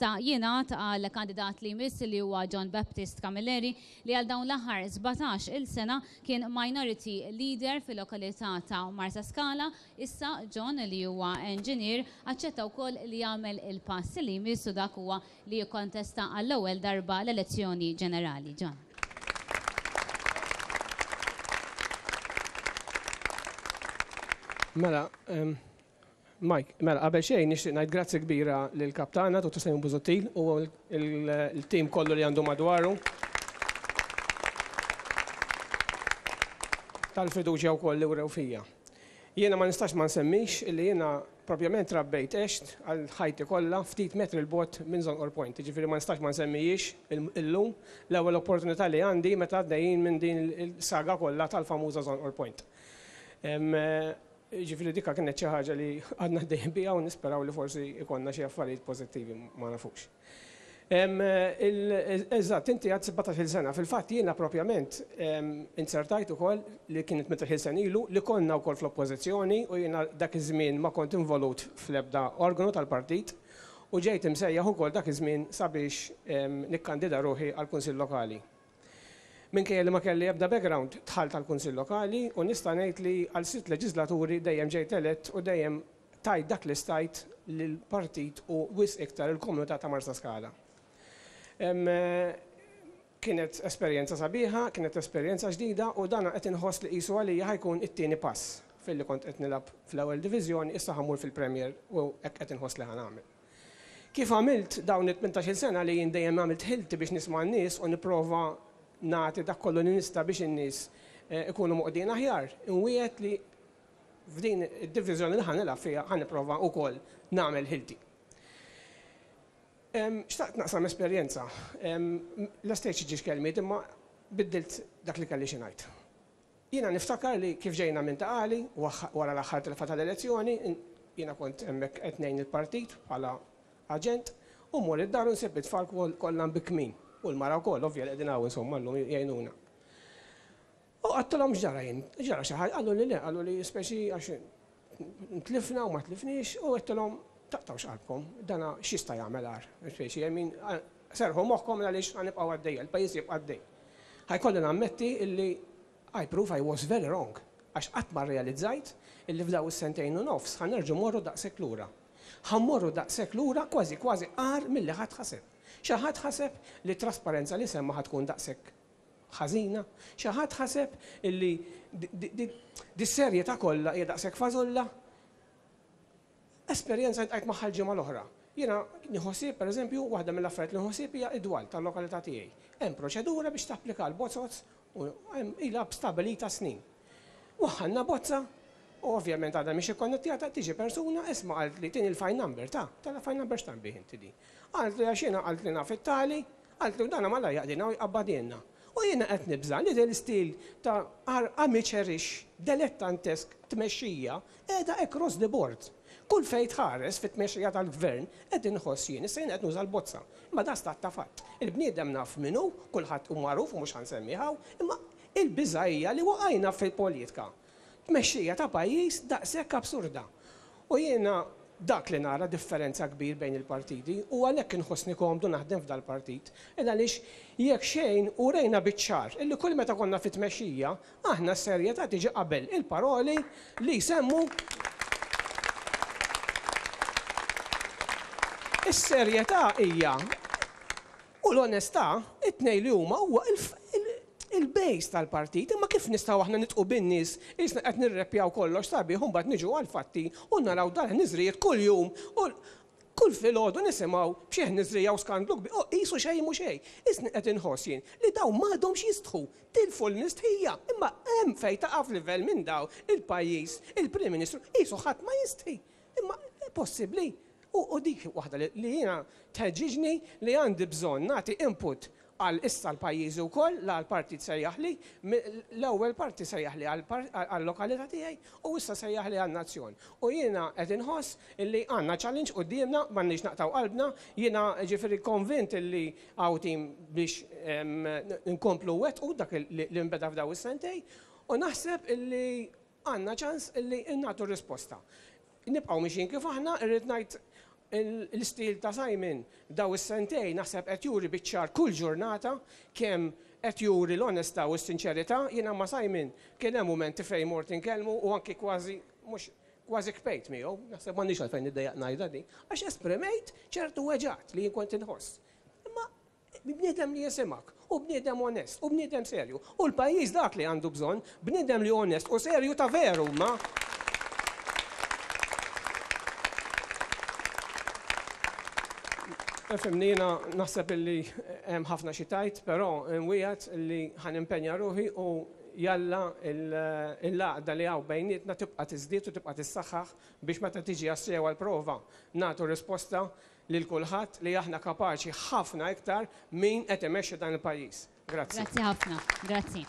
jista' jingħad għall-kandidat li jmiss li huwa John Baptist Camilleri li għal dawn l-aħħar 17 il sena kien minority leader fil-lokalità ta' Marsaskala. Issa John li huwa enġinier aċċetta wkoll li jagħmel il-pass li jmiss u dak huwa li jikkontesta għall-ewwel darba l-elezzjoni ġenerali. John. Mela, Mike, mela, qabel xejn nixtieq ngħid grazzi kbira lil kap tagħna, Dr. Simon Busuttil, u l-tim kollu li għandu madwaru. Tal-fiduċja wkoll li wrew fija. Jiena ma nistax ma nsemmix illi jiena Propjament trabbejt għext għal ħajti kollha ftit metri 'l bogħod minn Żonqor Point, jiġifieri ma nistax ma nsemmihiex illum, l-ewwel opportunità li għandi meta għaddejjin minn din il-saga kollha tal-famuża Żonqor Point. Jiġifieri dika kienet xi ħaġa li għadna għaddejjin biha u nisperaw li forsi jkollna xi affarijiet pożittivi, ma nafux. Eżatt, inti għad 17-il sena. Fil-fatt jiena propjament inzertajt ukoll li kienet 18-il sena ilu li konna wkoll fl-Oppożizzjoni u jiena dak iż-żmien ma kont involut fl-ebda organu tal-partit u ġejt imsejjaħ ukoll dak iż-żmien sabiex nikkandida ruħi għall-Kunsill Lokali. Minkejja li ma kelli ebda background, dħalt għall-Kunsill Lokali u nista' ngħid li għal sitt leġislaturi dejjem ġejt elett u dejjem tajt dak li stajt lill-partit u wisq iktar il-komunità ta' Marsaskala. Kienet esperjenza sabiħa, kienet esperjenza ġdida u dana qed inħoss li qisu għalija ħa jkun it-tieni pass filli kont qed nilgħab fl-ewwel diviżjoni issa ħa mmur fil-Premier u hekk qed inħoss li ħa nagħmel. Kif għamilt dawn it-tmintax-il sena li jien dejjem għamilt ħilti biex nisma' n-nies u nipprova nagħti dak kollu li nista' biex in-nies ikunu moqdijin aħjar, inwiegħed li f'din id-diviżjoni li ħa nilgħab fiha ħa nipprova wkoll nagħmel ħilti. Xtaqt naqsam esperjenza. Lestejt xi ġiex kelmiet imma biddilt dak li kelli xi ngħid. Jiena niftakar li kif ġejna minn Ta' Qali wara l-aħħar telfa tal-elezzjoni, jiena kont hemmhekk qed ngħin il-partit bħala aġent, u mmur id-dar u nsib it-tfal kollha mbikkmin u l-mara wkoll, ovvja li qegħdin hawn insomma llum jgħinuna. U għedtilhom x'ġara jien, ġara xi ħaġa, qaluli le, qaluli speċi għax tlifna u ma tlifniex u għedtilhom taqtgħux qalbkom, dana x'jista' jagħmel agħar, speċi, I mean, serrħu moħħkom għaliex ħa nibqgħu għaddejja, il-pajjiż jibqa' għaddej. Ħa jkolli nammetti illi I prove I was very wrong għax qatt ma rrealizzajt illi f'daw is-sentejn u nofs ħa nerġgħu mmorru daqshekk lura. Ħa mmorru daqshekk lura kważi kważi agħar milli ħadd ħaseb. Xi ħadd ħaseb li t-trasparenza li semma ħa tkun daqshekk ħażina? Xi ħadd ħaseb illi dis-serjetà kollha hija daqshekk fażulla? Esperjenza li ltqajt magħha l-ġimgħa l-oħra. Jiena nieħu ħsieb, pereżempju, waħda mill-affarijiet li nieħu ħsieb hija d-dwal tal-lokalità tiegħi. Hemm proċedura biex tapplika l-bozoz u hemm ilha stabbilita snin. Waħħalna bozza u ovvjament għadha mhix ikkonnettjata, tiġi persuna, isma' qaltli tini l-file number ta', tala file number x'tagħmel bih inti di? Qaltli għax jiena qaltli naf it-tali, Qaltlu dana malajr jaqdina u jqabbadilna. U jiena qed nibża' li dil-istil ta' amateurish, delettantesk tmexxija qiegħda across the board. Kull fejn tħares fit-tmexxija tal-Gvern qed inħoss jien, issa jiena qed nuża l-bozza, imma dan stat ta' fatt. Il-bniedem naf min hu, kulħadd hu magħruf u mhux ħa nsemmih hawn, imma il-biża' hija li waqajna fil-politka. Tmexxija ta' pajjiż daqshekk absurda. U jiena dak li nara differenza kbir bejn il-partiti u għalhekk inħossni komdu naħdem f'dal-partit. Il għaliex jekk xejn urejna biċ-ċar illi kull meta konna fit-tmexxija aħna s-serjetà tiġi qabel il-paroli li jsemmu Is-serjetà hija U l-onestà, it-tnejn li huma huwa il-base tal-partit, imma kif nistgħu aħna nidqu bin-nies qisna qed nirreppjaw kollox sabiħ u mbagħad niġu għall-fatti u naraw dal-ħniżrijiet kuljum u kull filgħodu nisimgħu b'xi ħniżrija u skandlu kbir u qisu xejn mhu xejn. Qisni qed inħoss jien li dawn m'għadhomx jistħu, tilfu l-mistħija, imma hemm fejn taqa' f'livell minn dawn il-pajjiż, il-Prim Ministru qisu ħadd ma jistħi. Imma possibbli? U dik waħda li jiena tħeġġiġni li għandi bżonn nagħti input għal issa l-pajjiżi wkoll, la l-partit sejjaħli, l-ewwel parti sejjaħli għal-lokalità tiegħi u issa sejjaħli għan-nazzjon. U jiena qed inħoss illi għandna challenge quddiemna, m'għandniex naqtgħu qalbna, jiena jiġifieri konvint illi hawn tim biex nkomplu nwettqu dak li nbeda f'dawn is-sentejn u naħseb illi Għandna ċans li nagħtu risposta. Nibqgħu mixjin kif aħna, irrid ngħid. L-istil ta' Simon daw is-sentejn naħseb qed juri biċ-ċar kull ġurnata kemm qed juri l-onestà u s-sinċerità. Jiena ma' Simon kien hemm mumenti fejn mort inkellmu u anki kważi mhux kważi kpejt miegħu, naħseb m'għandix għalfejn niddejjaq ngħidha din, għax esprimejt ċertu weġgħat li jien kont inħoss. Imma Bniedem li jisimgħek, u bniedem onest, u bniedem serju. U l-pajjiż dak li għandu bżonn, bniedem li onest u serju ta' veru imma. Ifhimni, jiena naħseb illi hemm ħafna xi tgħid, però nwiegħed li ħa nimpenja ruħi u jalla l-għaqda li hawn bejnietna tibqa' tiżdied u tibqa' tissaħħaħ biex meta tiġi għas-sewa l-prova nagħtu risposta lil kulħadd li aħna kapaċi ħafna iktar min qed imexxi dan il-pajjiż. Grazzi. Grazzi ħafna. Grazzi.